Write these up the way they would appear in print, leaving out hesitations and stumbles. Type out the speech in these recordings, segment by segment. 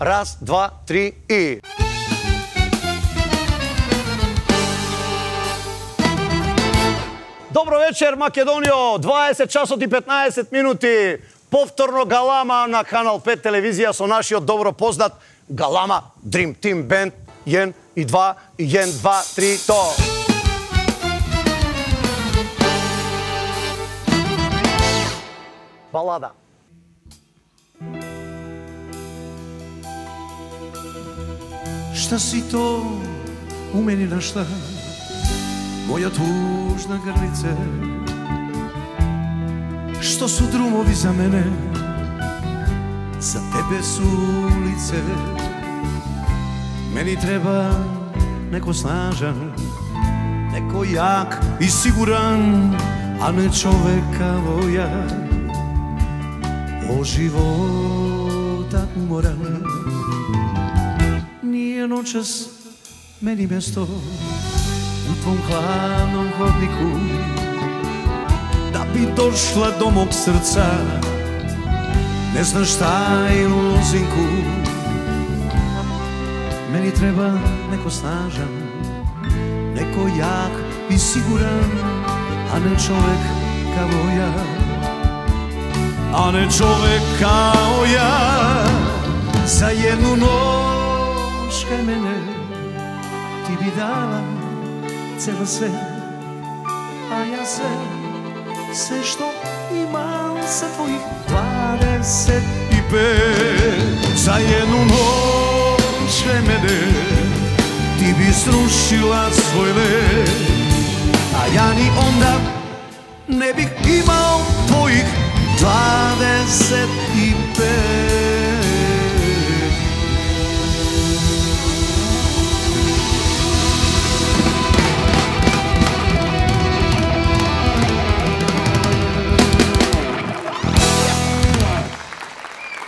Раз, два, три и... Добро вечер, Македонијо! 20 часот и 15 минути. Повторно Галама на Канал 5 телевизија со нашиот добро познат Галама Dream Team Band. 1 и 2, 1, 2, 3, то! Балада. Šta si to u meni našla, moja tužna grlice? Što su drumovi za mene, za tebe su ulice? Meni treba neko snažan, neko jak i siguran, a ne čovek kao ja, od života umoran. Nije noćas meni mesto u tvom hladnom hodniku, da bi došla do mog srca, ne znaš šta je u lozinku. Meni treba neko snažan, neko jak i siguran, a ne čovek kao ja, a ne čovek kao ja. Za jednu noć kaj mene ti bi dala celo sve, a ja sve što imam sa tvojih 25. Za jednu noć kaj mene ti bi srušila svoj let, a ja ni onda ne bih imao tvojih 25.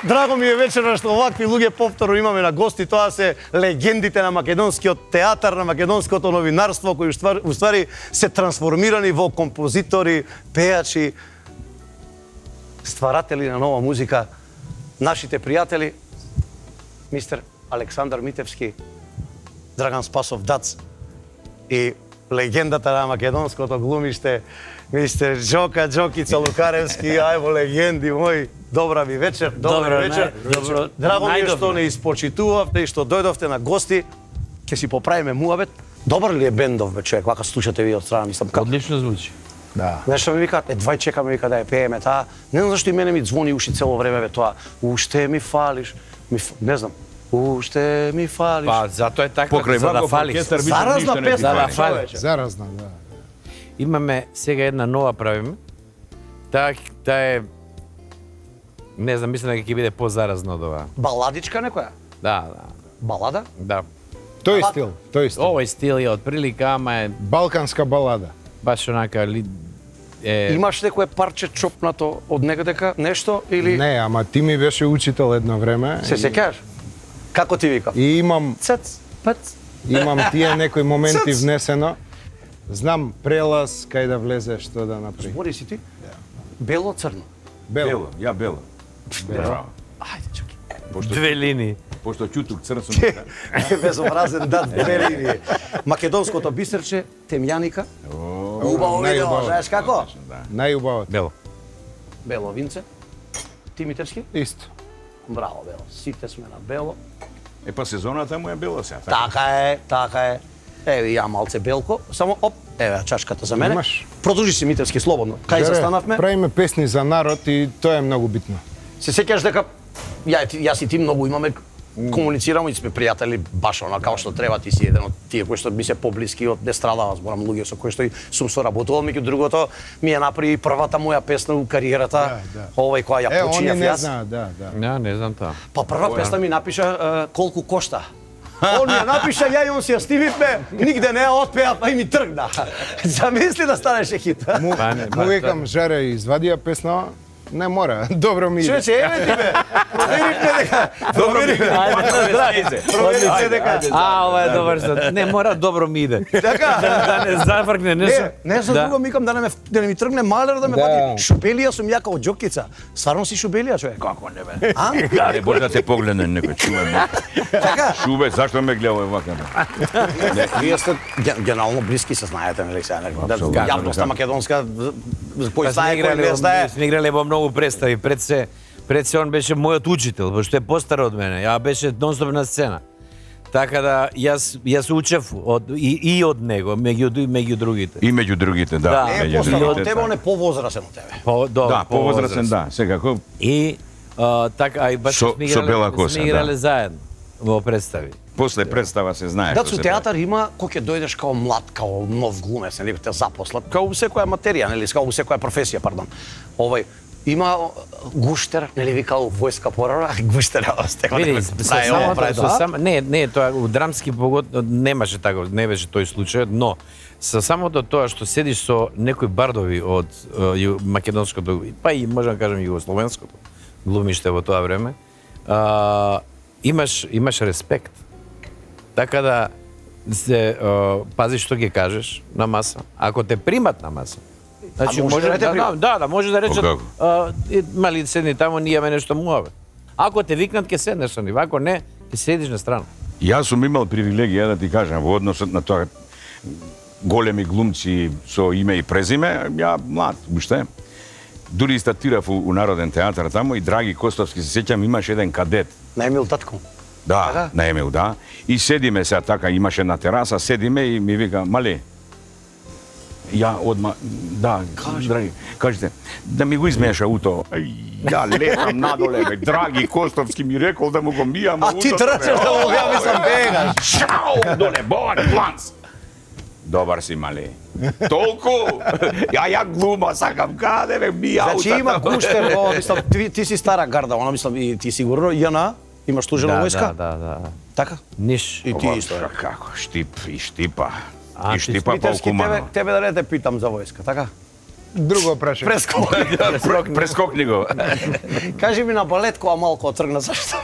Драго ми е вечера што овакви луѓе повторно имаме на гости. Тоа се легендите на македонскиот театар, на македонското новинарство, кои уствари се трансформирани во композитори, пејачи, стваратели на нова музика. Нашите пријатели, мистер Александар Митевски, Драган Спасов Дац и легендата на македонското глумиште, мистер Джока Джокица Лукаревски, ајво легенди мои. Добра ви вечер, добра вечер. Драго ми е што не испочитувавте и што дојдовте на гости. Ќе си поправиме муабет. Добар ли е бендов, бе, човек, вака слушате ви од страна, мислам како? Одлично звучи. Да. Нешто ми викаат, едвај чекаме вика да ја пееме таа. Не знам зашто и мене ми звони уши цело време бе тоа. Уште ми фалиш. Не знам. Уште ми фалиш. Па, затоа е така, за да фалиш. Заразна песна, за да фалиш. Заразна, да. Имаме сега една нова правиме. Таа е, не знам, мислам дека ќе биде позаразна од ова. Баладичка некоја? Да. Балада? Да. Тој стил, тој стил. Овој стил е од прилика, ама е Балканска балада. баш онака Имаш некое парче чопнато од некадека нешто или? Не, ама ти ми беше учител едно време. Се сеќаваш? Како ти вика? И имам Цец. имам тие некои моменти Цец. внесено. Знам прелаз кај да влезе, што да направи. Збори си ти? Бело, црно? Бело. Ја бела. Браво. Ајде, чуки. две линии. Пошто ќутук црн сум. Безобразен дат, две линии. Македонското бисерче, темјаника. Убаво видео, знаеш како? Најубавото. Бело. Бело винце. Ти Митевски? Исто. Браво, бело. Сите сме на бело. Е па сезоната му е бела сега. Така е. Еве ја малце белко, само оп, еве чашката за мене. Имаш. Продолжи си Митевски слободно. Кај застанавме? Правиме песни за народ и тоа е многу битно. Се сеќаш дека јас и ти многу имаме комуницираме и сме пријатели баш она како што треба, ти си еден од тие кои што ми се поблиски од не страдава, зборам луѓе со кои што и сум соработувал, меѓу другото ми ја направи првата моја песна у кариерата, овој која ја починав они не јас. знаат, да. Ja, не знам тоа. Па прва песна ми напиша колку кошта. Он ја напиша, ја и он си ја стививме, нигде не ја отпеа, па и ми тргна. Замисли да станеше хит. Му викам, Жаре, извади ја песна, Не мора, добро ми иде. Човече, еве ти бе. Проверивме дека. Проверивме дека. Ова е добар сад. Не, мора добро ми иде. Така. Да не зафркне нешто. Не за друго микам да не ми тргне малер да ме вади. Шубелија сум јака од џокица. Стварно си шубелија, човек. Како не бе? А? Не може да те погледне некој, чуваме. Така. Шубе, зашто ме гледа вака? Вие сте генерално блиски се знаете, нели сега. Апсолутно. Јавноста македонска кој Па знае кој не знае. сме играле во многу представи. Пред се он беше мојот учител, пошто е постар од мене. Ја беше нонстоп на сцена. Така да јас учев и од него, меѓу другите. И меѓу другите, да. Да. Не е постар од тебе, он е повозрасен од тебе. Да, повозрасен, да. Секако. И така, и баш Со бела коса, сме играле заедно во представи. После представа се знае Да, што со се театар има кој ќе дојдеш као млад, као нов глумец, нели те запослат, као секоја материја, нели, као секоја професија, пардон. Има гуштер, нели викал војска порара, гуштер остекла. Види, не, тоа у драмски погод немаше така, не беше тој случај, но со самото тоа што седиш со некои бардови од македонското, па и можам да кажам југословенското глумиште во тоа време, имаш респект. Така да се пазиш што ќе кажеш на маса. Ако те примат на маса, значи може да може да речат мали седни таму, ние имаме нешто муаве. Ако те викнат ќе седнеш со нив, ако не, ќе седиш на страна. Јас сум имал привилегија да ти кажам во однос на тоа големи глумци со име и презиме, ја млад, уште. Дури стартирав у Народен театар таму и Драги Костовски, се сеќам, имаше еден кадет. На Емил Татко. Да, на Емил, да. И седиме сега така, имаше на тераса, седиме и ми вика, мали, ја одма, да, Драги, кажете, да ми го измеша уто. Ја летам надоле, бе, Драги Костовски ми рекол да му го мијам. А ти трчаш да му ја мислам бегаш. Шау, доле, бон, планц. Добар си, мали. Толку! Ја глума, сакам, каде бе, ми аута. Значи има гуштер, мислам, ти си стара гарда, она мислам, и ти сигурно, JNA, имаш служил во војска? Да. Така? Ниш. И ти исто. Како, штип и штипа. А, И штипа Митевски, полкумано. тебе да не те питам за војска, така? Друго прашање. Прескокни го. Кажи ми на балет која малку отргна, зашто?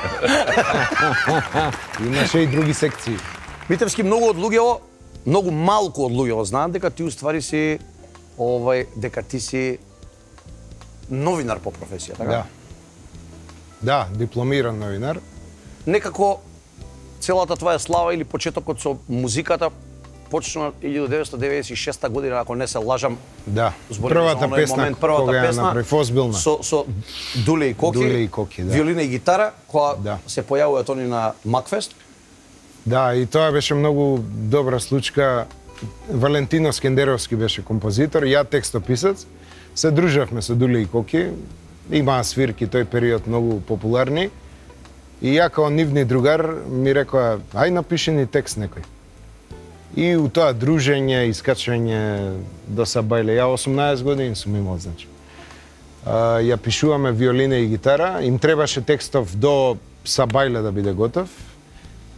Имаше и други секции. Митевски, многу малку од луѓето знаат дека ти уствари си дека ти си новинар по професија, така? Да. Да, дипломиран новинар. Некако целата твоја слава или почетокот со музиката почна 1996 година, ако не се лажам. Да. Зборим за Првата оној песна момент, кога ја направив озбилна. со Дуле и Коки. Дуле и Коки, да. Виолина и гитара, која Да. се појавуваат они на Макфест. Да, и тоа беше многу добра случка. Валентино Скендеровски беше композитор, ја текстописец. Се дружевме со Дуле и Коки. Имаа свирки тој период многу популарни. И ја као нивни другар ми рекоа, ај напиши ни текст некој. И у тоа дружење, искачање до Сабајле, ја 18 години сум имал, значи. Ја пишуваме виолина и гитара, им требаше текстов до Сабајле да биде готов.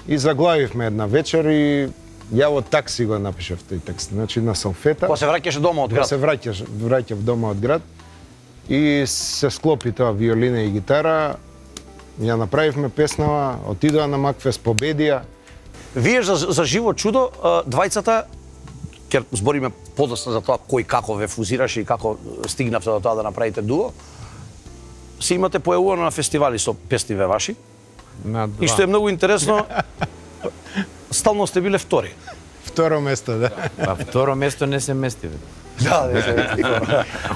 И заглавивме една вечер и ја од такси го напишав тој текст, значи на салфета. Кога се враќаше дома од град. Се враќав дома од град и се склопи тоа виолина и гитара. Ја направивме песнава, отидоа на Макфест, победија. Вие за живо чудо, двајцата, ќе збориме подоцна за тоа кој како ве фузираше и како стигнавте до тоа да направите дуо, се имате појавувано на фестивали со песниве ваши. И што е многу интересно, стално сте биле втори. Второ место, да. Па второ место не се мести. Да,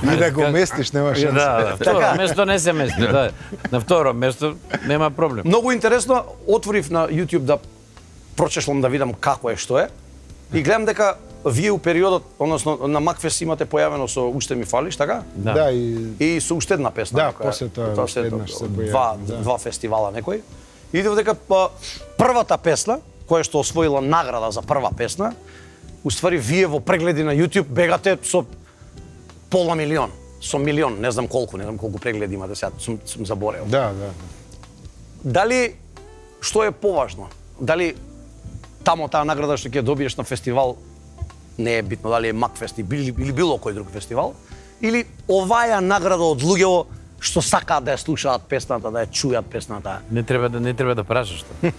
И да го местиш, нема шанса. Да, второ место не се мести. Да. На второ место нема проблем. Многу интересно, отворив на YouTube да прочешлам да видам како е, што е. И гледам дека вие у периодот, односно на Макфест имате појавено со Уште ми фалиш, така? Да, И со уште една песна. Да, после тоа уште еднаш се појави. Два фестивала некој. Видев дека првата песна, која што освоила награда за прва песна, уствари вие во прегледи на YouTube бегате со пола милион, со милион, не знам колку прегледи имате сега, сум заборел. Да. Дали што е поважно? Дали тамо таа награда што ќе добиеш на фестивал не е битно, дали е Макфест или било кој друг фестивал, или оваја награда од луѓето што сакаат да ја слушаат песната, да ја чујат песната. Не треба да прашаш тоа.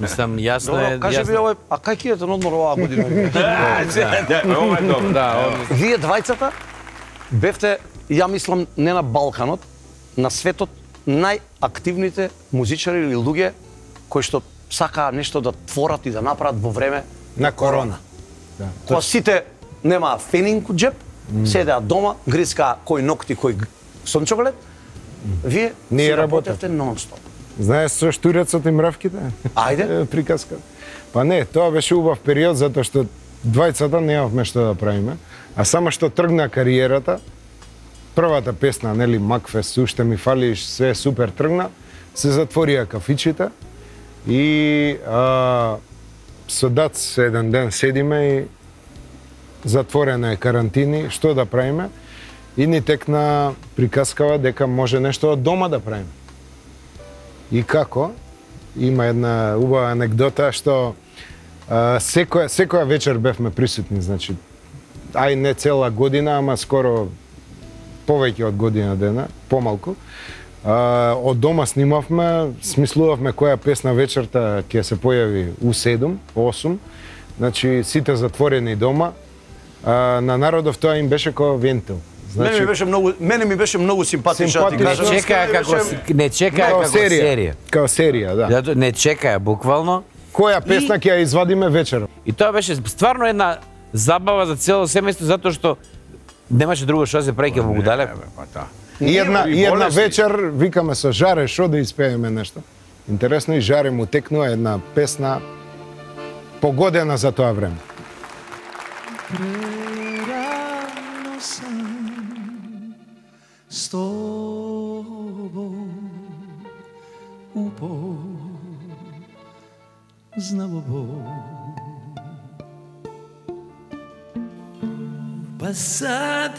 Мислам, јасно е. Кажи ми овој, а кај ќе на одмор оваа година? Ова е добро. Да, Вие двајцата бевте, ја мислам, не на Балканот, на светот најактивните музичари или луѓе кои што сакаа нешто да творат и да направат во време На корона. Кога сите немаа фенинг у джеп, седеа дома, грискаа кој ногти, кој сончоглед, вие Ние си работевте работевме. нон-стоп. Знаеш со штурецот и мравките? Ајде. Приказка. Па не, тоа беше убав период затоа што двајцата немавме што да правиме, а само што тргна кариерата, првата песна, нели, Макфест, уште ми фалиш, све супер тргна, се затворија кафичите и со Дац еден ден седиме и затворена е карантини, што да правиме? И ни текна приказкава дека може нешто од дома да правиме. И како? Има една убава анекдота што секоја вечер бевме присутни, значи, ај не цела година, ама скоро повеќе од година дена, помалку. Од дома снимавме, смислувавме која песна вечерта ќе се појави у 7, 8. Значи, сите затворени дома. На народов тоа им беше како вентил. Значи, мене ми беше многу симпатично да ти кажам. Не чекаа како серија. Као серија, да. Зато не чекаа буквално. Која песна ќе ја извадиме вечер? И тоа беше стварно една забава за цело семејство затоа што немаше друго што да се прави ке во Гудалеко. И една вечер викаме со Жаре шо да испееме нешто. Интересно и Жаре му текнува една песна погодена за тоа време. Prerano sam s tobom upoznao Bog. Pa sad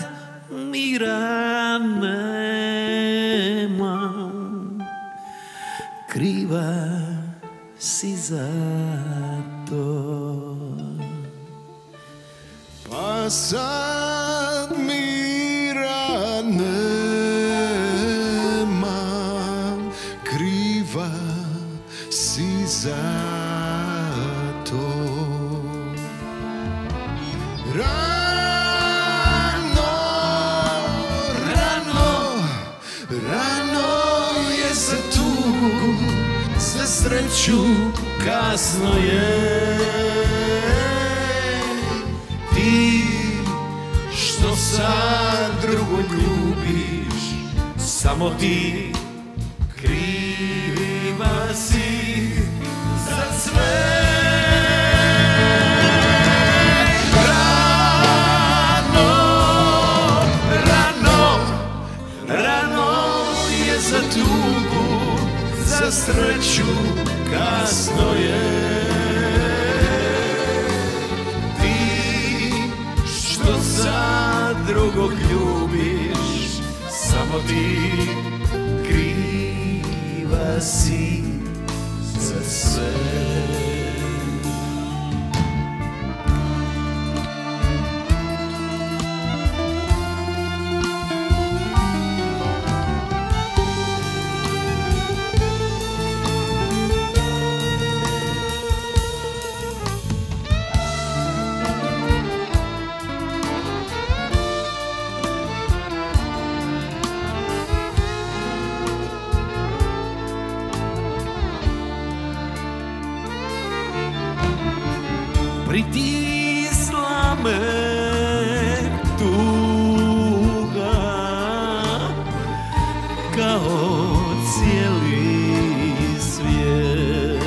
mira nemam, kriva si za to. Pa sad mira nemam, kriva si za to. Rano je za tugu, za sreću kasno je. Ti što sad drugo ljubiš, samo ti kriva si za sve. Rano je za tugu, za sreću kasno je. Sad drugog ljubiš, samo ti kriva si za sve. Pritisla me tuga kao cijeli svijet,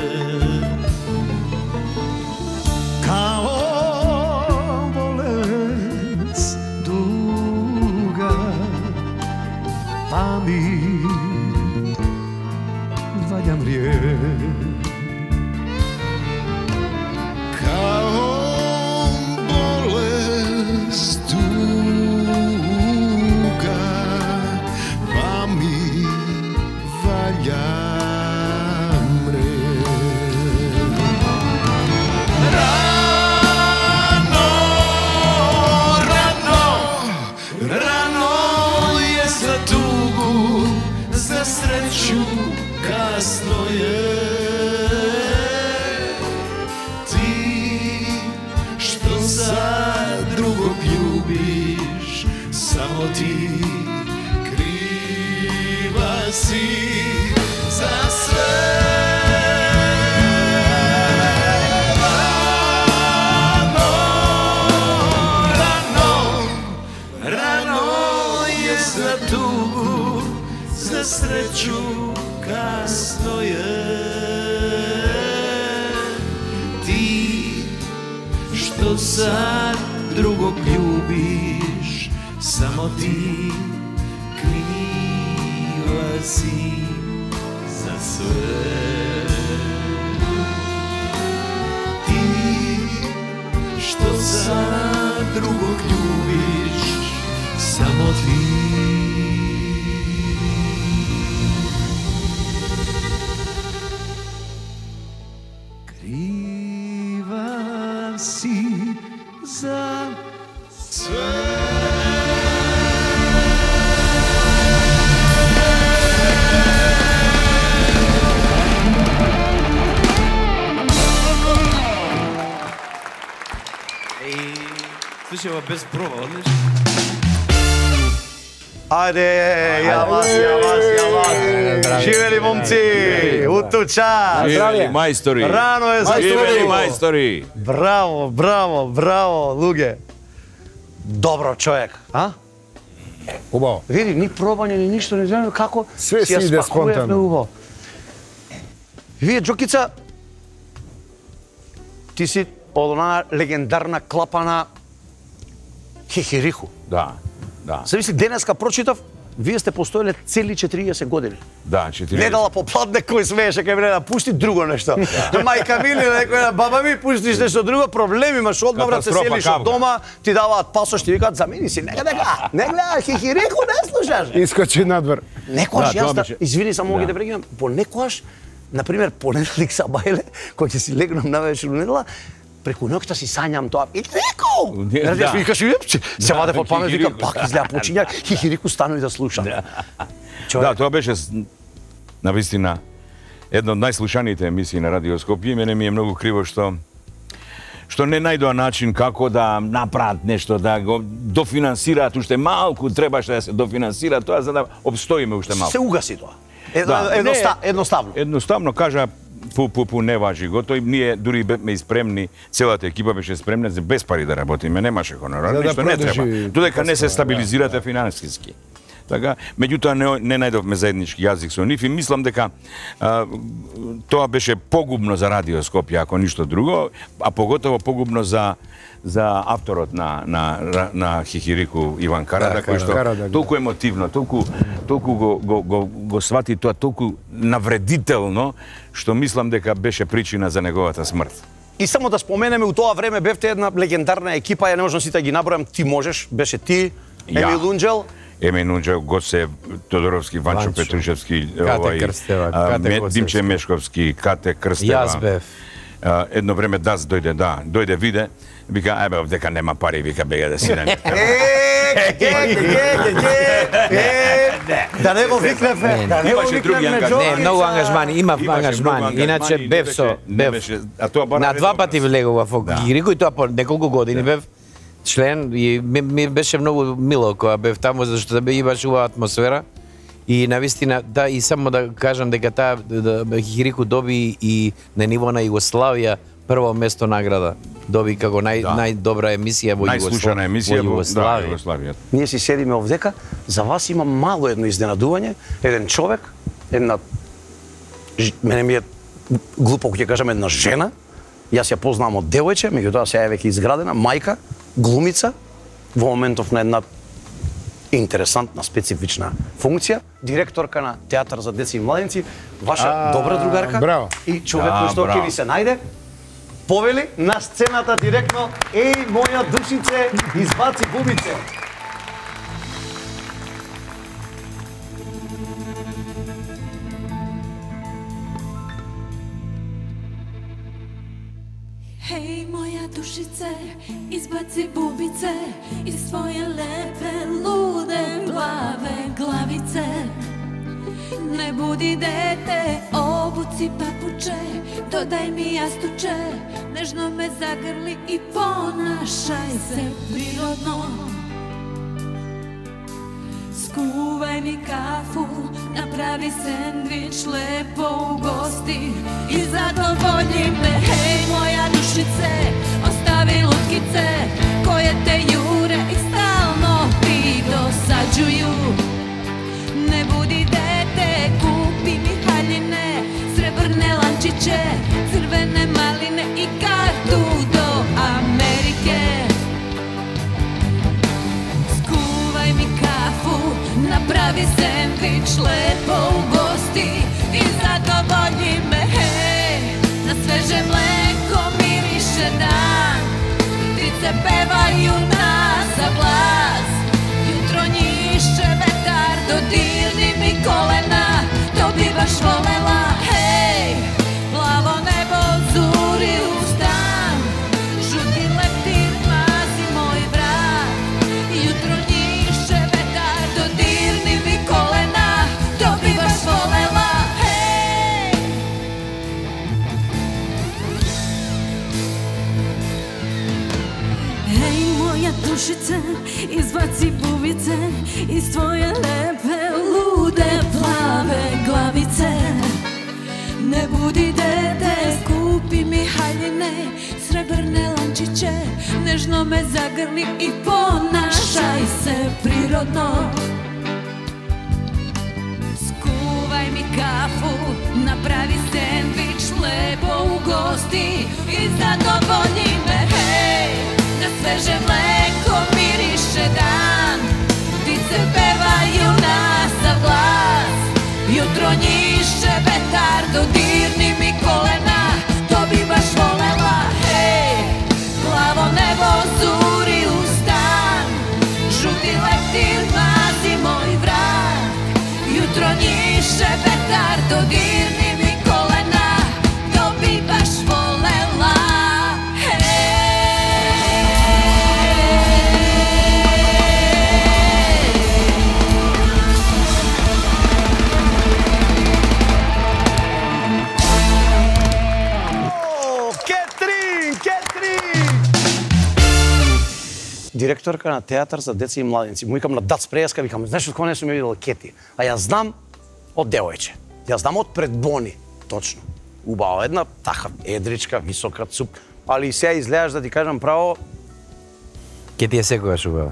kao bolest duga, pa mi valja mrijet. Rano je za tugu, Само ти крива си за све. Sreću kasno je. Ti što sad drugog ljubiš, samo ti kriva si za sve. Ti što sad drugog ljubiš, samo ti. Za sve. Слушай, без проба, одлично. Ајде, ја вас. Живели момци, утуча. Живели мајстори. Рано е Живели мајстори. Браво, луѓе. Добро човек, а? Убаво. Види, ни пробање, ни ништо, не знаеме како Све си иде спонтано. Убаво. Вие, Џокица, ти си од онаа легендарна клапа на Хихириху. Да. Се мисли, денеска прочитав, вие сте постоеле цели 40 години. Да, 40. Недела попладне кој смееше кај мене да пушти друго нешто. Мајка Мили, некоја баба ми пуштиш нешто друго, проблеми имаш одма брат, се селиш од дома, ти даваат пасош, ти викаат замени си, не гледаш Хихириху, не слушаш. Искочи надвор. Некојаш Да, јас тоа да, беше- извини само Да. ги да прекинам, понекојаш, например, понеделник са бајле, кој ќе си легнам на вечер недела, преку ноќта си сањам тоа. Хихирику! Да. Викаш, се ваде под памет, вика, Хихирику. пак изгледа почиња, Хихирику стану и да слушам. Да, тоа беше навистина една од најслушаните емисии на Радио Скопје. Мене ми е многу криво што не најдоа начин како да направат нешто, да го дофинансираат уште малку, требаше да се дофинансира тоа за да обстоиме уште малку. Се угаси тоа. Да. Едноставно. Едноставно кажа пу не важи го. Тој ние дури бевме и спремни, целата екипа беше спремна за без пари да работиме, немаше хонорар, За да ништо не продолжи треба. Додека не се постоја, стабилизирате финансиски. Така, меѓутоа не најдовме заеднички јазик со нив и мислам дека тоа беше погубно за Радио Скопје, ако ништо друго, а поготово погубно за авторот на Хихирику Иван Карада, кој што Карада, толку емотивно, толку го свати тоа толку навредително, што мислам дека беше причина за неговата смрт. И само да споменеме, у тоа време бевте една легендарна екипа, ја не можам сите да ги набројам, ти можеш, беше ти, Емил Унџел, Емил Унџел, Гоце Тодоровски, Ванчо Петрушевски, Димче Мешковски, Кате Крстева. Јас бев. Едно време Дас дојде виде, вика, ајбе, овдека нема пари, вика, бега да си на да не го викнеме, да не го Имаше други викнеме, ангажмани. Не, многу ангажмани, имав ангажмани. Иначе бев на два пати влегував во Хихирику и тоа по неколку години бев член и ми беше многу мило кога бев таму зашто да имаш убава атмосфера. И навистина, да, и само да кажам дека таа Хихирику доби и на ниво на Југославија прво место награда. Доби како најдобра емисија во најслушана емисија во Југославија. Југославија. Ние си седиме овдека, за вас има мало едно изненадување, еден човек, мене ми е глупо ќе кажам една жена, јас ја познавам од девојче, меѓутоа сега е веќе изградена, мајка, глумица, во моментов на една интересантна, специфична функција, директорка на Театар за деца и младенци, ваша добра другарка браво. и човек кој што ќе ви се најде. Повели на сцената директно, еј, моја душице, избаци бубице. Hej, moja dušice, izbaci bubice iz svoje lepe, lude, plave glavice. Ne budi dete, obuci papuče, dodaj mi jastuče, nežno me zagrli i ponašaj se prirodno. Скувај ми кафу, направи сендвич, лепо угости и задоволи ме. Хеј, моја душице, остави луткице које те јуре и стално ти досаđују. Не буди дете, купи ми хаљине, сребрне ланчиче, црвене малине и карту до Америке. Скувај ми кафу, направи сендвич, лепо угости и задоволи ме. Хеј, на свеже млеко мирише дан, птице певају нас за глас. Јутро њише ветар, додирни ми колена, то би баш волела. Хеј, плаво небо, зури устан, жути лептир мази мој врат. Јутро њише ветар, додирни ми колена, то би баш волела. Хеј. Hej, moja dušice, izbaci bubice iz tvoje lepe, lude, plave glavice. Ne budi dete, kupi mi haljine, srebrne lančiće, nežno me zagrli i ponašaj se prirodno. Skuvaj mi kafu, napravi sendvič, lepo ugosti i zadovolji me. Hej, na sveže mleko miriše dan, ptice pevaju nas za glas. Jutro njiše vetar, dodirni mi kolena, to bi baš volela. Hej, plavo nebo, zuri ustan, žuti leptir mazi moj vrat. Jutro njiše vetar, dodirni mi kolena, to bi baš volela. Директорка на театар за деца и младенци. Му викам на Дац Преска, викам, знаеш од кога не сум ја видел Кети? А ја знам од девојче. Ја знам од пред Бони, точно. Убава една, така, едричка, висока, цуп. Али сега изгледаш, да ти кажам право... Кети е секогаш убава.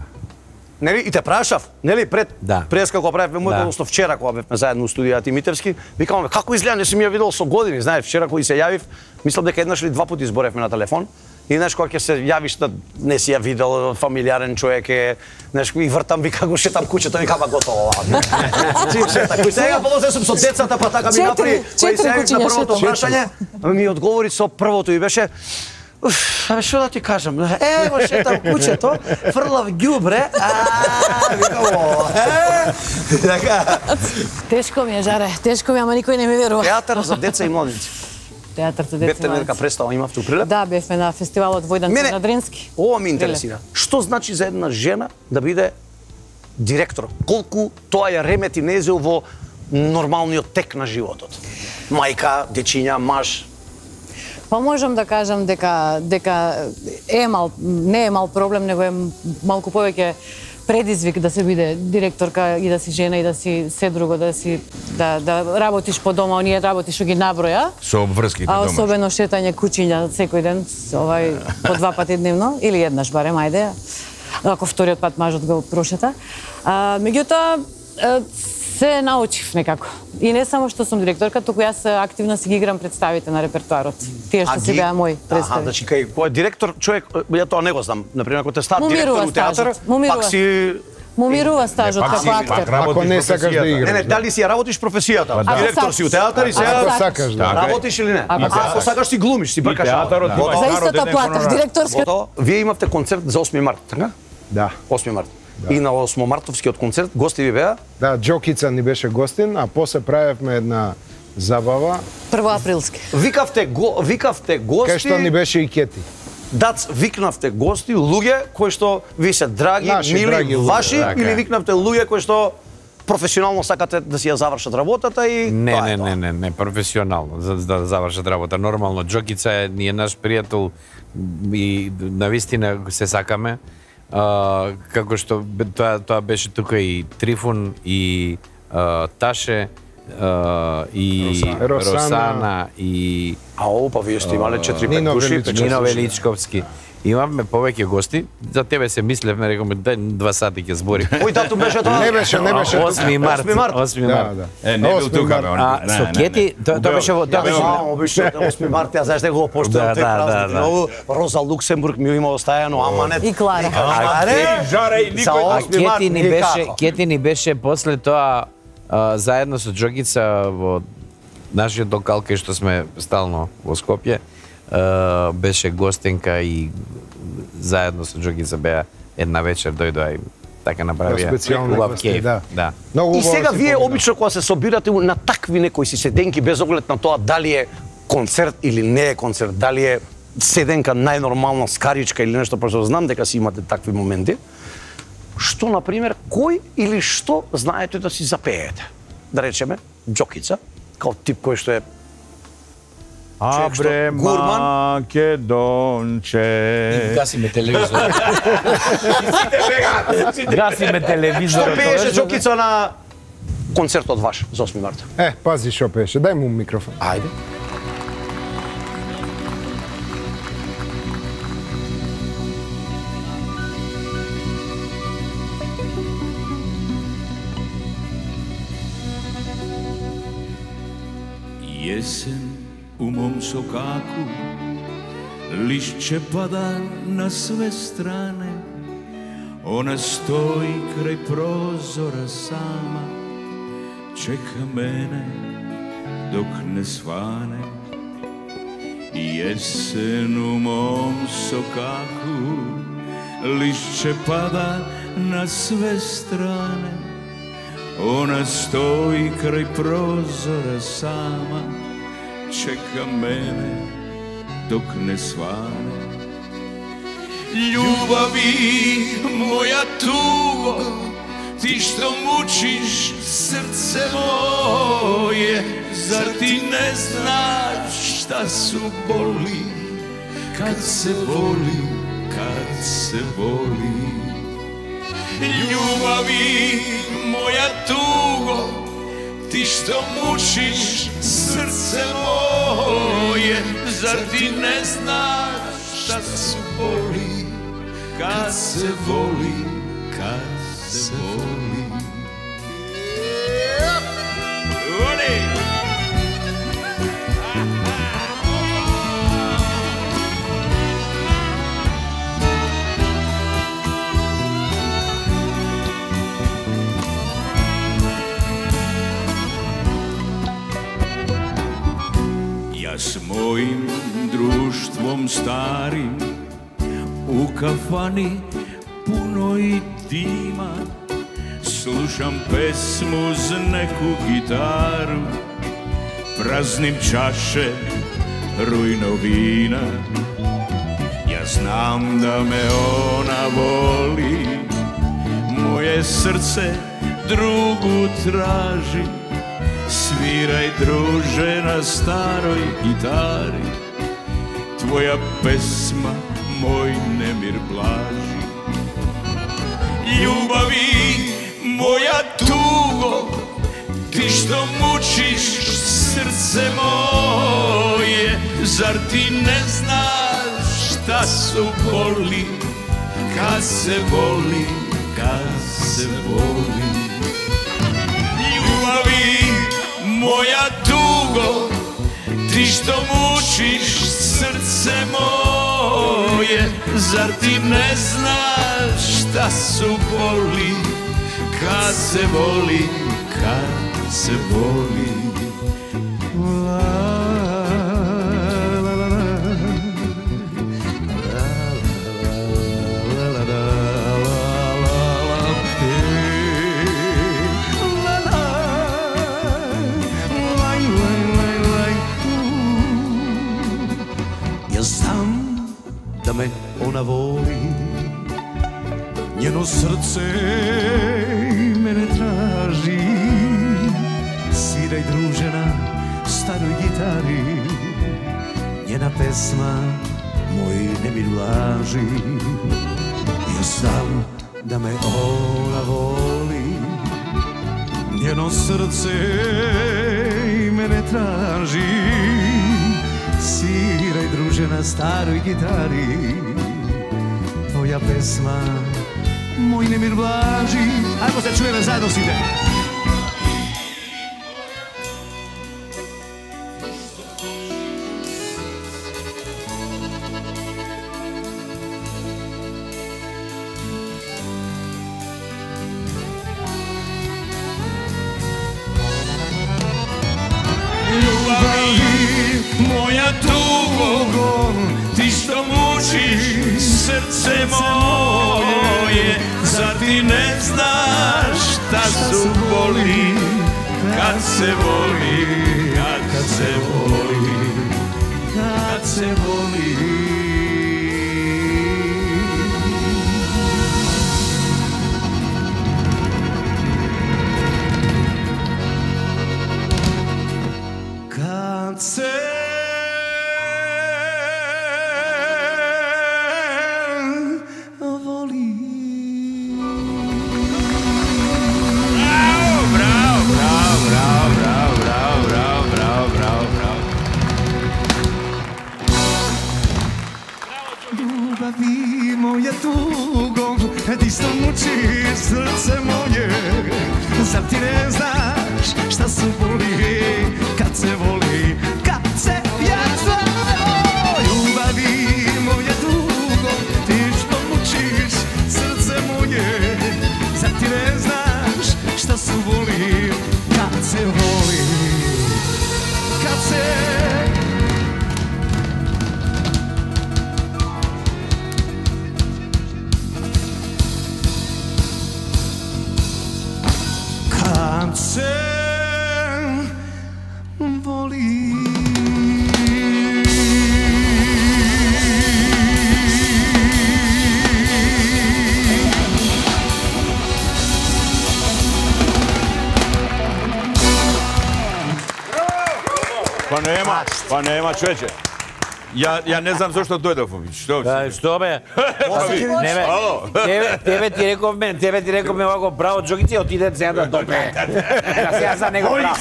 Нели, и те прашав, нели, пред Да. Преска кога правевме моето, односно вчера кога бевме заедно у студијата Митевски, викам, како изгледа, не сум ја видел со години, знаеш, вчера кога се јавив, мислам дека еднаш или два пати зборевме на телефон. И знаеш кога ќе се јавиш да не си ја видел, фамилиарен човек е, знаеш, и вртам, вика го шетам куќето, вика ба готово. Чим шета куќето. Сега полозе сум со децата, па така ми направи, кој се јавив на првото прашање, ми одговори со првото и беше абе, што да ти кажам? Ево, шетам куќето, фрлав ѓубре, викам, така. Тешко ми е, Жаре, тешко ми е, ама никој не ми верува. Театар за деца и младенци. Театар за деца и Бевте младенци. нека представа, имавте у прилеп? Да, бевме на фестивалот Војданци на Дрински. Ова ме интересира. Што значи за една жена да биде директор? Колку тоа ја ремети незел во нормалниот тек на животот? Мајка, дечиња, маж. Па можам да кажам дека не е мал проблем, него е малку повеќе предизвик да се биде директорка и да си жена и да си се друго, да работиш по дома, оние работиш што ги наброја. Со обврските А домашни. особено шетање куќиња секој ден, по 2 пати дневно или еднаш барем, ајде. Ако вториот пат мажот го прошета. Меѓутоа се научив некако. И не само што сум директорка, туку јас активно си ги играм представите на репертоарот. Тие што си беа мои представи. Значи кој е директор човек, ја тоа не го знам. Например, ако те стават Му директор мирува у театар, стажот, му мирува. пак си Му мирува стажот како актер. Ако не сакаш да играш. Не, дали си ја работиш професијата? Директор си у театар и сега Ако сакаш, да. работиш или не? Ако сакаш си глумиш, си бркаш. театарот има За истата плата, директорска. Готово. Вие имавте концерт за 8 март, така? Да. 8 март. И на 8 мартовскиот концерт гости ви беа? Да, Джокица ни беше гостин, а после правевме една забава, Првоаприлски. Викавте гости. кај што ни беше и Кети. Дац, викнавте гости, луѓе кои што ви се драги, Наши мили, драги луѓе, ваши, така или е. викнавте луѓе кои што професионално сакате да си ја завршат работата и тоа е тоа. Не, професионално, за да завршат работа. Нормално, Джокица е наш пријател и навистина се сакаме. како што тоа беше тука и Трифун и Таше и Росана и па вие сте имале 4-5 души. Нино Величковски. Имавме повеќе гости. За тебе се мислевме, рекоме, дај 2 сати ќе збори. Кој датум беше тоа? Не беше. 8 март. 8 март. Не бил тука, бе. Со Кети, тоа беше 8 март, ја знаеш дека го поштувам тој празник. Многу Роза Луксембург ми има оставено аманет. И Клара. Жара и никој. Кети ни беше после тоа заедно со Џогица во нашиот локал кај што сме стално во Скопје. Беше гостенка и заедно со Џогица беа една вечер дојдоа и така направија убав кејф. Да. И сега вие обично кога се собирате на такви некои си седенки без оглед на тоа дали е концерт или не е концерт, дали е седенка најнормална скаричка или нешто, пошто знам дека си имате такви моменти. Што, например, кој или што знаете да си запеете? Да речеме, Џокица, као тип кој што е Абре Македонче. Гасиме телевизор. Гасиме телевизор. Што пееше Џокица на концертот ваш за 8 марта? Пази што пееше, дај му микрофон. Ајде. Јесен у мом сокаку, лишće пада на све стране. Она стои крај прозора сама, чека мене dok ne svane. Jesen u mom sokaku, lišće pada na sve strane. Ona stoji kraj prozora sama, čeka mene dok ne svane. Ljubavi moja tugo, ti što mučiš srce moje, zar ti ne znaš šta su boli, kad se voli, kad se voli. Ljubavi moja tugo, ti što mučiš srce moje, zar ti ne znaš šta su boli, kad se voli, kad se voli. Ja s mojim društvom starim u kafani punoj dima slušam pesmu uz neku gitaru, praznim čaše rujno vina. Ja znam da me ona voli, moje srce drugu traži. Sviraj druže na staroj gitari, tvoja pesma moj nemir blaži. Ljubavi moja tugo, ti što mučiš srce moje, zar ti ne znaš šta su boli, kad se voli, kad se voli. Ljubavi moja tugo, ti što mučiš srce moje, zar ti ne znaš šta su boli, kad se voli, kad se voli. Me ona voli, njeno srce mene traži. Sviraj druže na staroj gitari, njena pesma moj nemir laži. Ja Znam da me ona voli, njeno srce i mene traži. Sviraj druže na staroj gitari, tvoja pesma moj nemir blaži. Ajmo se čujeme zajedno svi ide. Moja tugo, ti što mučiš srce moje, zar ti ne znaš šta su boli kad se voli, kad se voli, kad se voli. Kad se voli. Bravo. Ljubavi moja tugo, ti što mučiš srce moje, zar ti ne znaš šta su boli kad se voli, kad se vjetra. Ljubavi moja tugo, ti što mučiš srce moje, zar ti ne znaš šta su boli kad se voli, kad se se voli. Pa nema čoveče. Ja ne znam zašto doјдов. Што бе? Тебе ти реков ме овако право джогици, отиде сега да допе. Да сега за него право.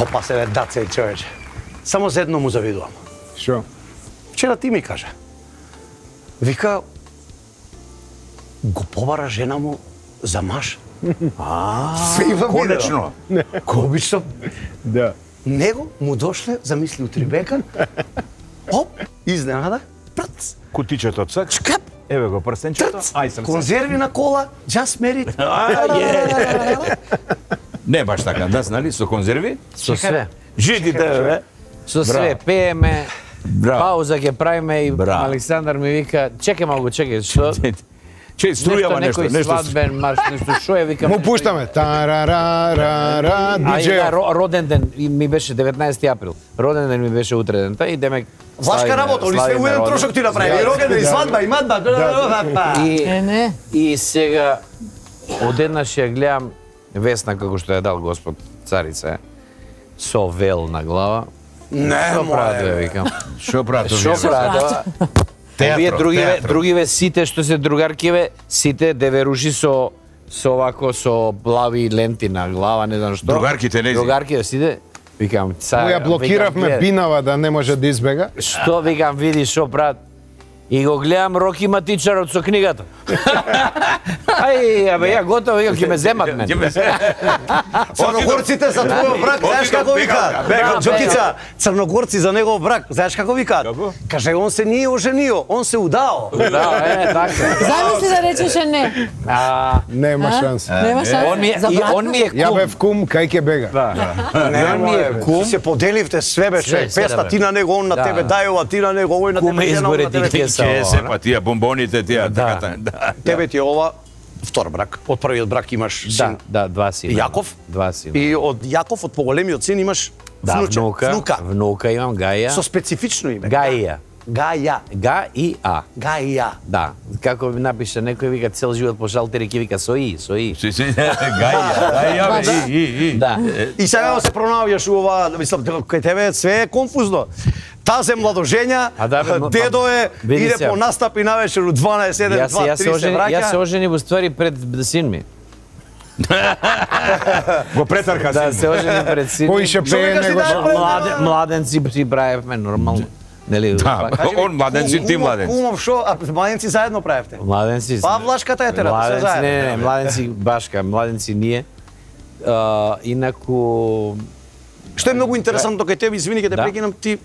Опа се бе, Даце, човече. Само за едно му завидувам. Шо? Вчера ти ми кажа. Вика, го побара жена му за маж. Конечно. Обично. Да. Него му дошле, замисли утрибекан, оп, изненада, прц, Кутичето цак. шкап, Еве го прстенчето. Ај срце. конзерви на кола, just married. Не баш така, да, нали, со конзерви? Со све. Жидите, бе. Со све, пееме, Браво. пауза ќе правиме и Браво. Александар ми вика, чекај малку, чекај, што? Струјава нешто, Некој свадбен марш, нешто, шо е, викам. Му пуштаме. Тарарарара, диджеј. Роден ден ми беше 19 април. Роден ден ми беше утре дента и демек Влашка работа, или све у еден трошок ти направи, и роден, и свадба, и мадба. Не. И сега одеднаш ја гледам Весна како што ја дал Господ царица, со вел на глава. Не, Што прават, моје. викам? Шо прават? Што прават? Овие другиве сите што се другаркиве, сите деверуши со овако со плави ленти на глава, не знам што. Другарките нези. Другарките сите. Викам, цар. Ја блокиравме Бинава да не може да избега. Што викам, види што прават. И го гледам Роки Матичарот со книгата. Ај, абе, ја готово, ќе ме земат мен. Црногорците за твојот брак, знаеш како викаат? Джокица, црногорци за негов брак, знаеш како викаат? Каже, он се nije оженио, он се удао. Да, така. Замисли да речеше не. Нема шанс. Нема шанс. Он ми е Ја кум. бев кум, кај ќе бега? Он ми е кум. Се поделивте све беше, Све, све, песта бе. ти на него, он на Да. тебе дајува, ти на него, овој на Куме тебе, избори на тебе. ти кеса. Ке се па тие бомбоните, тие така. Тебе ти е ова втор брак. Од првиот брак имаш син Да, два сина. Јаков. Два сина. И од Јаков, од поголемиот син, имаш Да, внуче. внука имам Гаја. Со специфично име. Гаја. Гаја. Га и А. Гаја. Да. Како ми напише некој вика цел живот по шалтери ки вика со И. Гаја, Да. И сега се пронаоѓаш у ова, мислам, кај тебе све е конфузно. тазе младожења, дедо е, иде по настап и навечер у 12, 1, 2, 3 се враќа. Јас се ожени во ствари пред син ми. Го претарка син. Да, се ожени пред син ми. Поише пее него младенци си правевме нормално. Нели? Да, он младенци, ти младенци. Умов шо, а младенци заедно правевте? Младенци. Павлашката етерата, се заедно. Не, младенци башка, младенци ние. Инаку Што е многу интересантно кај тебе, извини ќе те прекинам, ти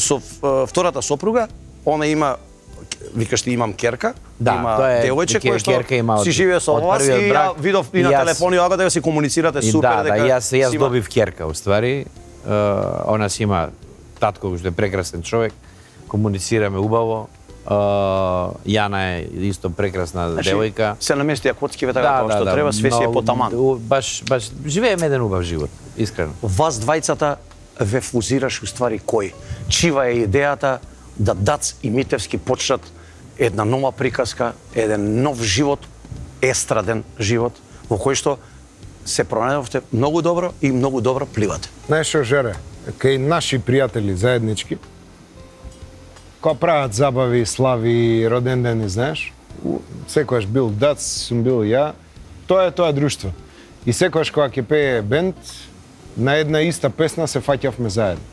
со втората сопруга, она има, викаш ти имам керка, има девојче кој што си живее со вас и ја видов и на телефони ога да си комуницирате супер дека. Да, јас добив керка уствари. Она си има татко што е прекрасен човек, комуницираме убаво. Јана е исто прекрасна девојка. Се наместија коцкиве така како што треба, све си е потаман. Баш живееме еден убав живот, искрено. Вас двајцата ве фузираш уствари кој? Чива е идејата да Дац и Митевски почнат една нова приказка, еден нов живот, естраден живот, во кој што се пронајдовте многу добро и многу добро пливате. Знаеш што, Жере, кај наши пријатели заеднички, кога прават забави, слави, роден дени, знаеш, секојаш бил Дац, сум бил ја, тоа е тоа друштво. И секојаш кога ќе пее бенд, на една иста песна се фаќавме заедно.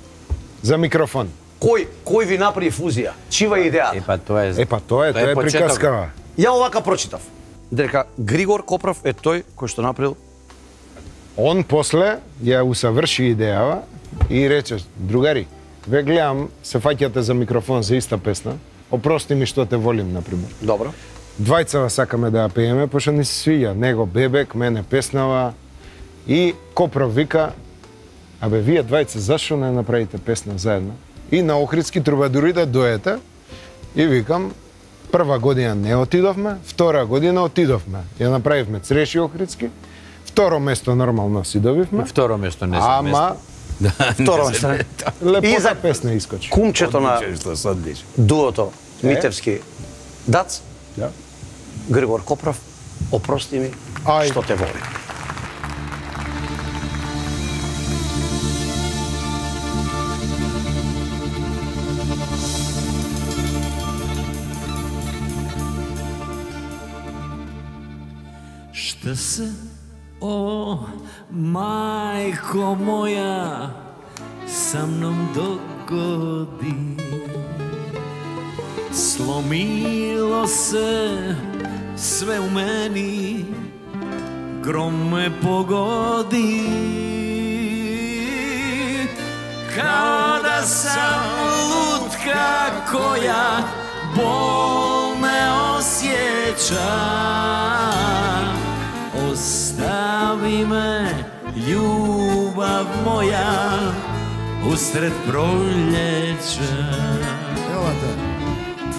За микрофон. Кој ви направи фузија? Чива е идејата? Тоа е приказкава. Ја овака прочитав. Дека Григор Копров е тој кој што направил. Он после ја усаврши идејава и рече, другари, ве гледам, се фаќате за микрофон за иста песна. Опрости ми што те волим, например. Добро. Двајцава сакаме да ја пееме, пошто ни се свиѓа. Него бебек, мене песнава. И Копров вика, абе, вие двајца, зашо не направите песна заедно? И на Охридски трубадури да доете. И викам, прва година не отидовме, втора година отидовме. Ја направивме Цреши Охридски. Второ место нормално си добивме. Второ место не се Ама второ место. Лепота песна искочи. Кумчето на дуото Митевски Дац. Да. Григор Копров, опрости ми што те волим. Šta se, o majko moja, sa mnom dogodi? Slomilo se sve u meni, grom me pogodi. Kada sam lutka koja bol ne osjeća, ostavi me ljubav moja usred proljeća.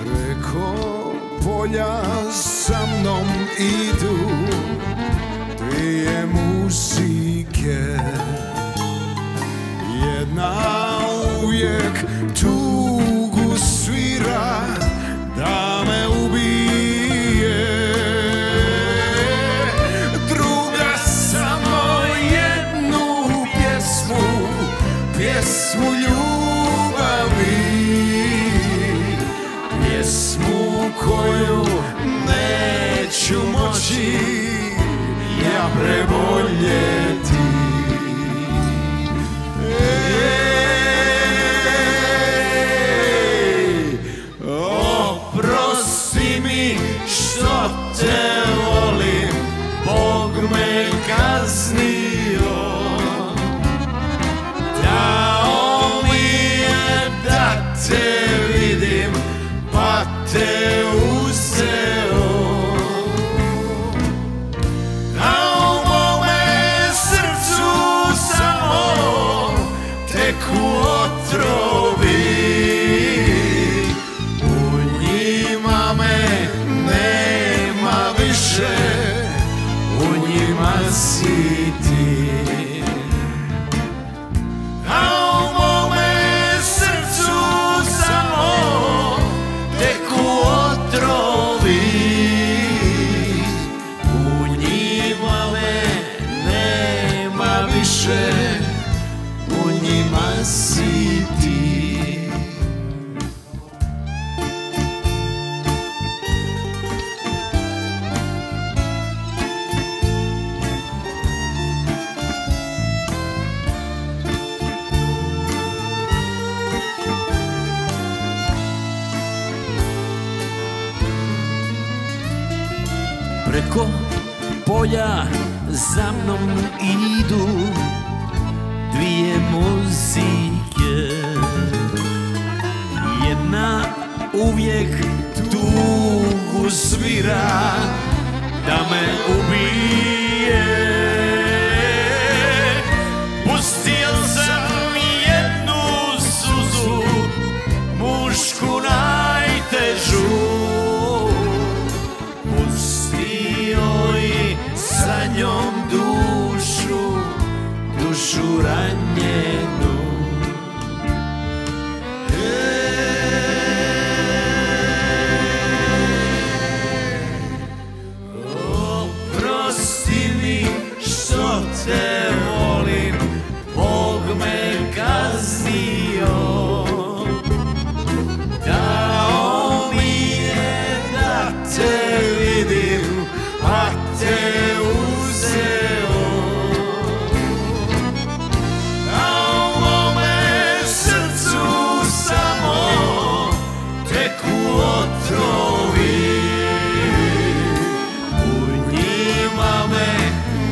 Preko polja sa mnom idu dvije muzike, jedna uvijek tugu svira da me ubije, druga samo jednu pjesmu ljubavi, pjesmu koju neću moći ja preboljeti. Oprosti mi što te volim, Bog me kaznio, dao mi je da te vidim, pa te uzeo. A u mome srcu samo teku otrovi, u njima me nema više, u njima si ti. A u mome srcu samo teku otrovi, u njima me nema više, u njima si ti. Преко полја за мном иду две музике. Една увijek tugu svira da me ubije. Pustio sam jednu suzu, mušku najtežu, pustio i sa njom dušu ranjenu. Oprosti mi što te volim, Bog me kaznio. Dao mi je da te vidim, a te uzeo. A u mome srcu samo teku otrovi. U njima me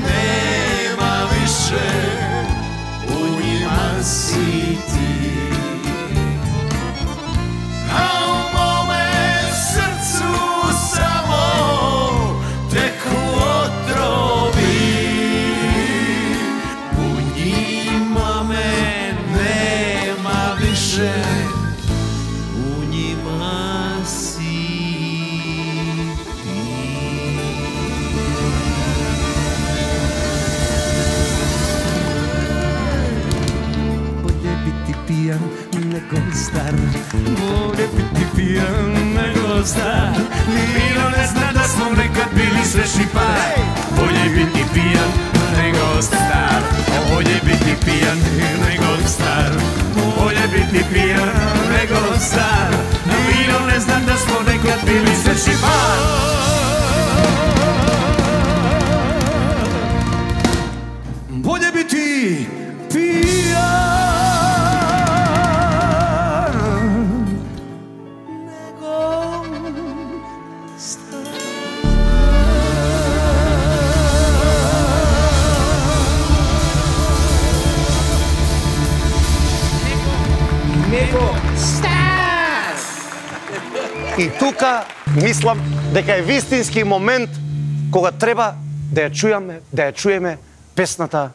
nema više, u njima si ti. A u mome srcu samo teku otrovi. U njima me nema više, u njima si ti. Bolje biti pijan nego star, bolje biti pijan nego star. Milo ne zna da smo nekad bili srećni par. Bolje biti pijan nego star, bolje biti pijan nego star. Bolje biti pijan nego star. Milo ne zna da smo nekad bili srećni par. Bolje biti pijan nego star. И тука мислам дека е вистински момент кога треба да ја чуеме песната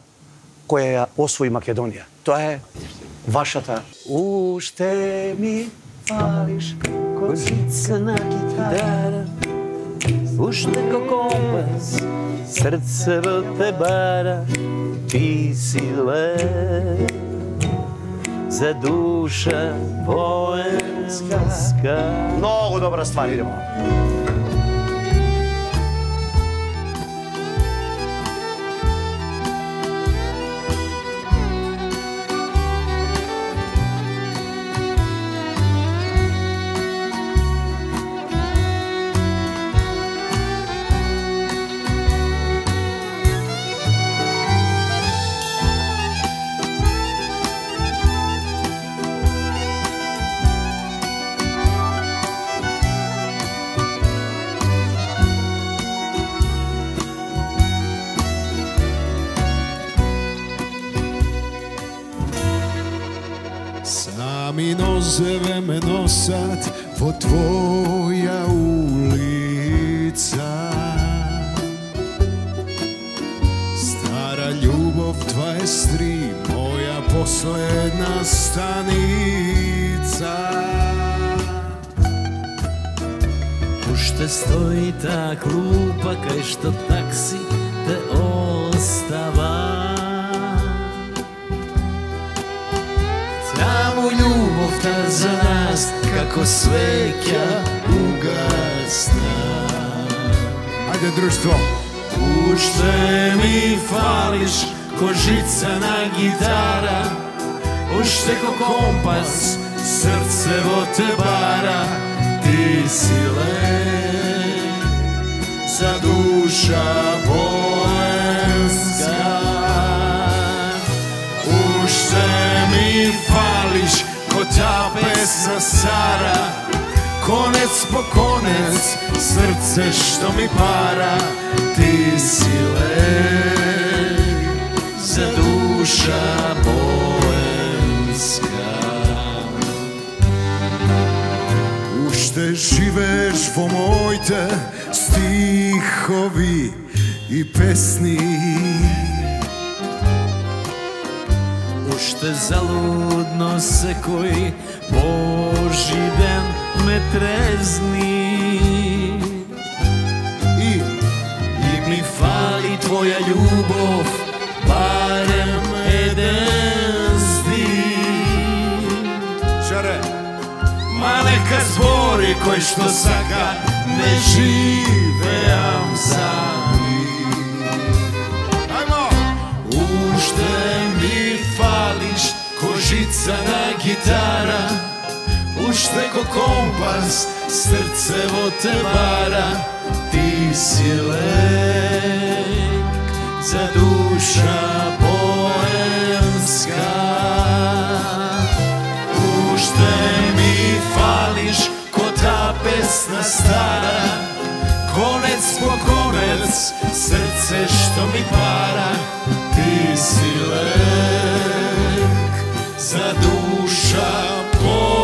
која ја освои Македонија. Тоа е вашата Уште ми фалиш козица на гитара, Уште ко компас срце во те бара, ти си лев за душа военска. Многу добра ствар, идемо. Sami nozeve me nosat po tvoja ulica. Stara ljubov 23, moja posledna stanica. Уште стои та клупа кај што такси те остава. Таму љубовта за нас како свеќа угасна. Ајде, друштво! Уште ми фалиш ко жица на гитара, уште ко компас срце во те бара, ти си лев за душа военска. Уште ми фалиш ко та песна стара, konec po konec, srce što mi para, ti si lek za duša boemska. Уште живееш во моите стихови и песни, уште залудно секој Божи ден ме трезни и ми фали твоја љубов, барем еден стих. Шаре, ма нека збори кој што сака, не живеам за нив. Ајмо! Уште ми фалиш ко жица на гитара, уште ко компас срцево те бара, ти си лек за душа боемска. Уште ми фалиш ко та песна стара, конец по конец срце што ми пара, ти си лек за душа поемска.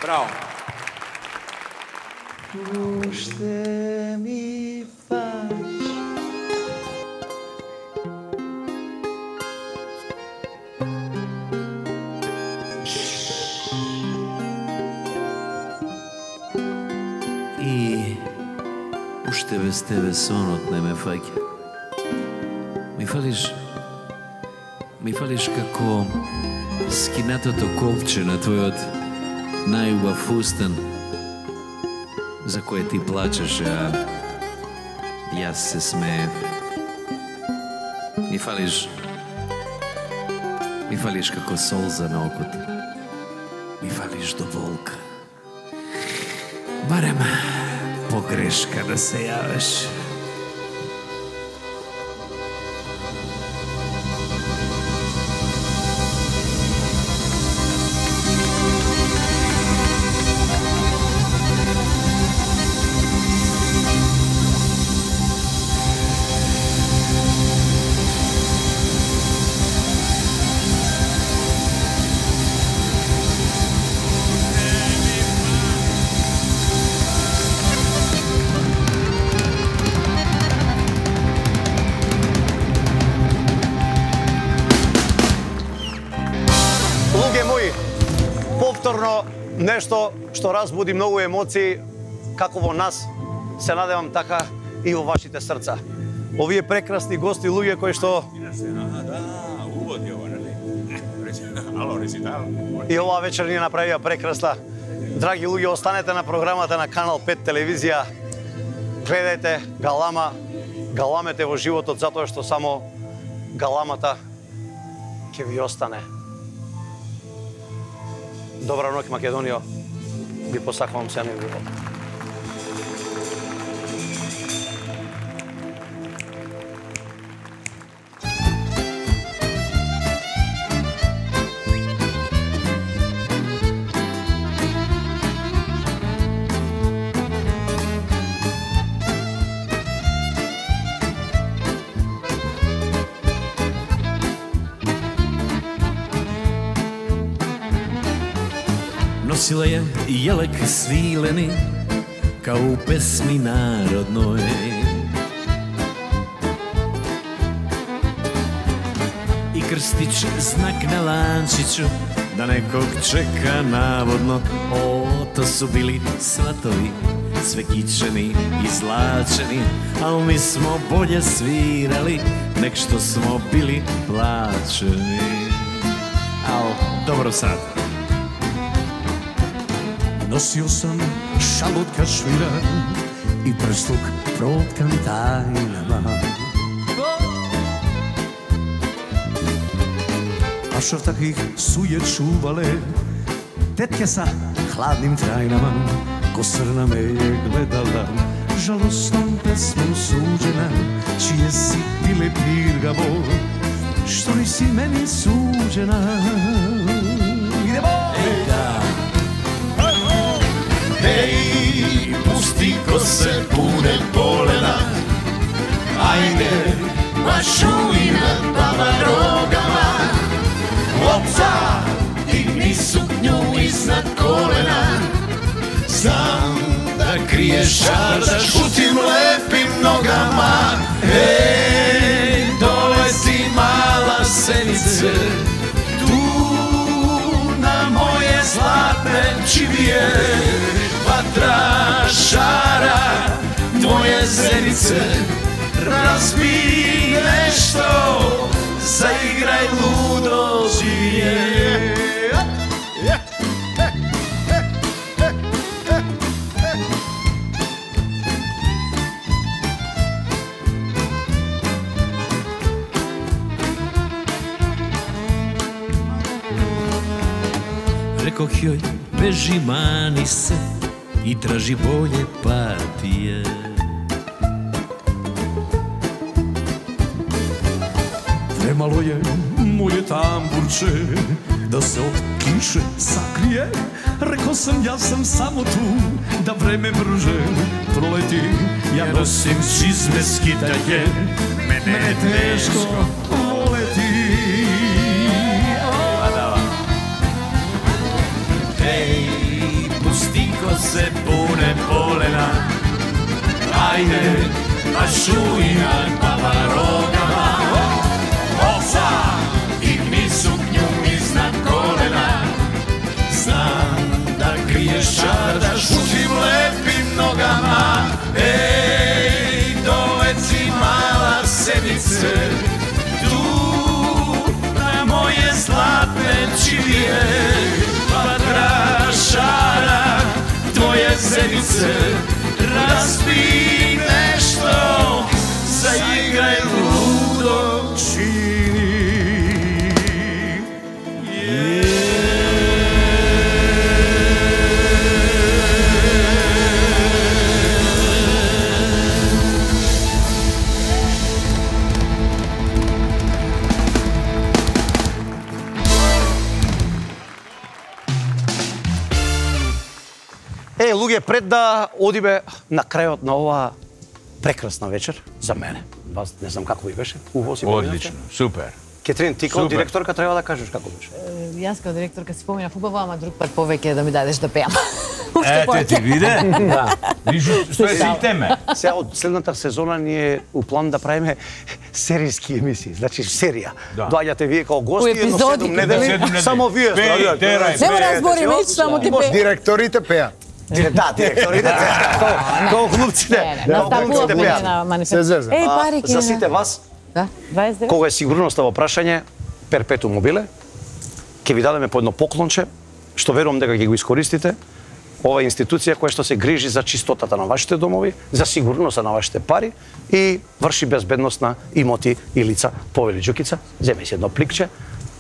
Браво. Уште ми фалиш. И уште без тебе сонот не ме фаќа. Ми фалиш како скинатото колче на твојот најубав устан, за кое ти плачеш, а јас се смеев. Ми фалиш како солза на окото. Ми фалиш до болка. Барем погрешка да се јавеш. Повторно нешто што разбуди многу емоции, како во нас, се надевам така и во вашите срца. Овие прекрасни гости, луѓе кои што... И оваа вечер ни направија прекрасна. Драги луѓе, останете на програмата на Канал 5 телевизија. Гледајте галама, галамете во животот, затоа што само галамата ќе ви остане. Добра ноќ, Македонија. Ви посакувам се на љубов. Носила je jelek svileni, kao u pesmi narodnoj. I krstić znak na lančiću, da nekog čeka navodno. O, to su bili svatovi, sve kičeni i zlačeni, al mi smo bolje svirali, nek što smo bili plaćeni. Al, dobro sad. Nosio sam šalot kašmiran i prsluk protkan tajnama. A šov takvih su je čuvale tetke sa hladnim trajnama. Ko srna me je gledala, жалосном песмом суđena, čije si bile pirgavo, što nisi meni suđena. Idemo! Ej, da! Ej, pusti kose pune polena, ajde, mašuj nad baba rogama, opca, digni suknju iznad kolena, znam da kriješ žar, da šutim lepim nogama. Ej, dolezi mala senice, tu na moje zlatne čivije, vatra šara tvoje zenice, razbi nešto, zaigraj ludo živije. Rekoh joj, beži, mani se i traži bolje patije. Premalo je moje tamburče da se od kiše sakrije. Rekao sam ja sam samo tu da vreme brže proleti. Ja nosim čizme skitaje, mene teško voleti. Ej, pusti kose pune polena, ajde, mašuj nad baba rogama, ovca, digni suknju iznad kolena, znam da kriješ žar, da šutim lepim nogama. Ej, doleci mala senice, tu na moje zlatne čivije, vatra šara tvoje zenice, razbi nešto, zaigraj ludo čini. Луѓе, пред да одиме на крајот на оваа прекрасна вечер за мене. Вас не знам како ви беше. Убаво си поминавте? Одлично, супер. Кетрин, ти како директорка треба да кажеш како беше. Јас како директорка си поминав убаво, ама друг пат повеќе да ми дадеш да пеам. Ете ти виде? Да. Што е системе? Сега од следната сезона ни е у план да правиме серијски емисии, значи серија. Доаѓате вие како гости, едно 7 недели, само вие терај. Не мора збори веќе, само ти пеам. Директорите пеа. Да, директорите како глупците. Наставував мене на манифест. Еј, пари За сите вас, да, 29. кога е сигурноста во прашање, перпетум мобиле, ќе ви дадеме по едно поклонче, што верувам дека ќе го искористите. Ова е институција која што се грижи за чистотата на вашите домови, за сигурноста на вашите пари и врши безбедност на имоти и лица. Повели Џукица, земе си едно пликче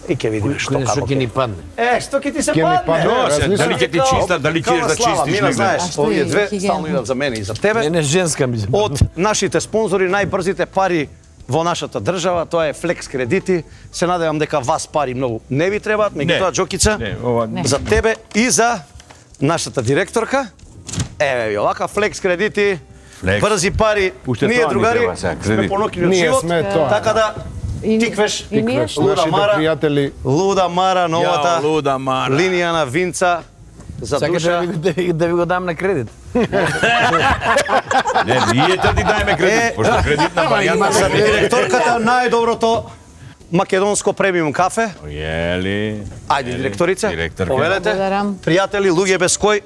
и ќе видиме што како. Што ќе ни падне? Што ќе ти се падне? Дали ќе ти чиста, дали ќе да чистиш Мина, него? знаеш, овие две стално идат за мене и за тебе. Не женска ми. Од нашите спонзори, најбрзите пари во нашата држава, тоа е Флекс кредити. Се надевам дека вас пари многу не ви требаат, меѓутоа Џокица, за тебе и за нашата директорка. Еве ви овака Флекс кредити, брзи пари. Ние другари сме понокни од живот, така да тиквеш Луда Мара, новата линија на Винца за душа. Сакаш да ви го дам на кредит? Не, ние ти дајме кредит, пошто кредитна варијанта за директорката најдоброто македонско премиум кафе. Ели. Ајде, директорица, повелете. Благодарам. Пријатели, луѓе без кој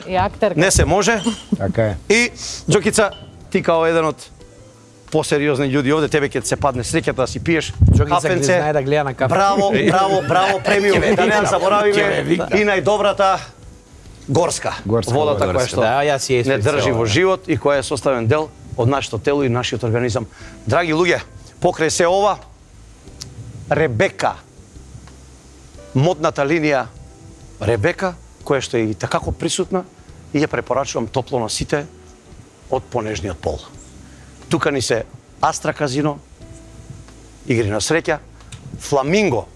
не се може. Така е. И, Џокица, ти као еден од посериозни људи овде, тебе ќе се падне среќата да си пиеш кафенце. Знае да гледа на кафе. Браво, браво, браво, премиум. Да не заборавиме и најдобрата горска водата која што не држи во живот и која е составен дел од нашето тело и нашиот организам. Драги луѓе, покрај се ова, Ребека, модната линија Ребека, која што е и такако присутна, и ја препорачувам топло на сите од понежниот пол. Тука ни се Астра казино, игри на среќа, Фламинго,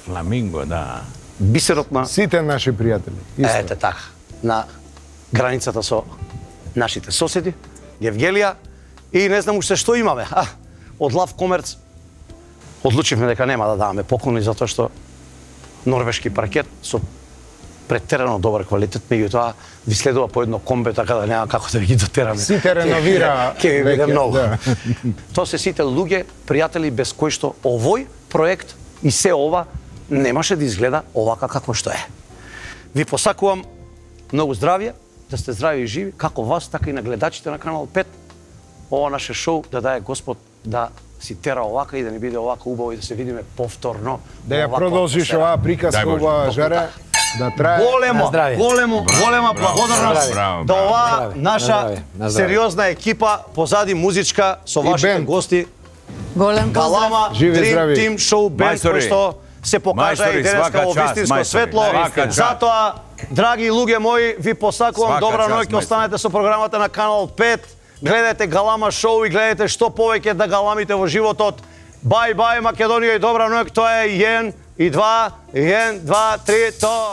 Фламинго, да. бисерот на Сите наши пријатели. ете така, на границата со нашите соседи, Евгелија и не знам уште што имаме. Од Лав Комерц одлучивме дека нема да даваме поклони затоа што норвешки паркет со претерано добар квалитет, меѓутоа ви следува по едно комбе, така да нема како да ви ги дотераме. Сите реновира Ќе ви биде веќе, многу. да. Тоа се сите луѓе, пријатели без кои што овој проект и се ова немаше да изгледа овака како што е. Ви посакувам многу здравје, да сте здрави и живи, како вас, така и на гледачите на Канал 5. Ова наше шоу да дае Господ да си тера овака и да ни биде овака убаво и да се видиме повторно. Да ја продолжиш оваа приказка, ова жаре, да трае. Голема благодарност Браво, до браво. оваа наша сериозна екипа позади музичка со вашите бенд. гости. Голем поздрав. Галама, Живи, Dream здрави. Team Show Band, Мајстори. кој што се покажа Мајстори, и денеска свака во част, вистинско мајстори. светло. Свака част. Затоа, драги луѓе мои, ви посакувам Свака добра част, ноќ, мајстори. останете со програмата на Канал 5. Гледајте Галама шоу и гледајте што повеќе да галамите во животот. Бај, бај, Македонија и добра ноќ, тоа е 1 и 2, 1, 2, 3, то.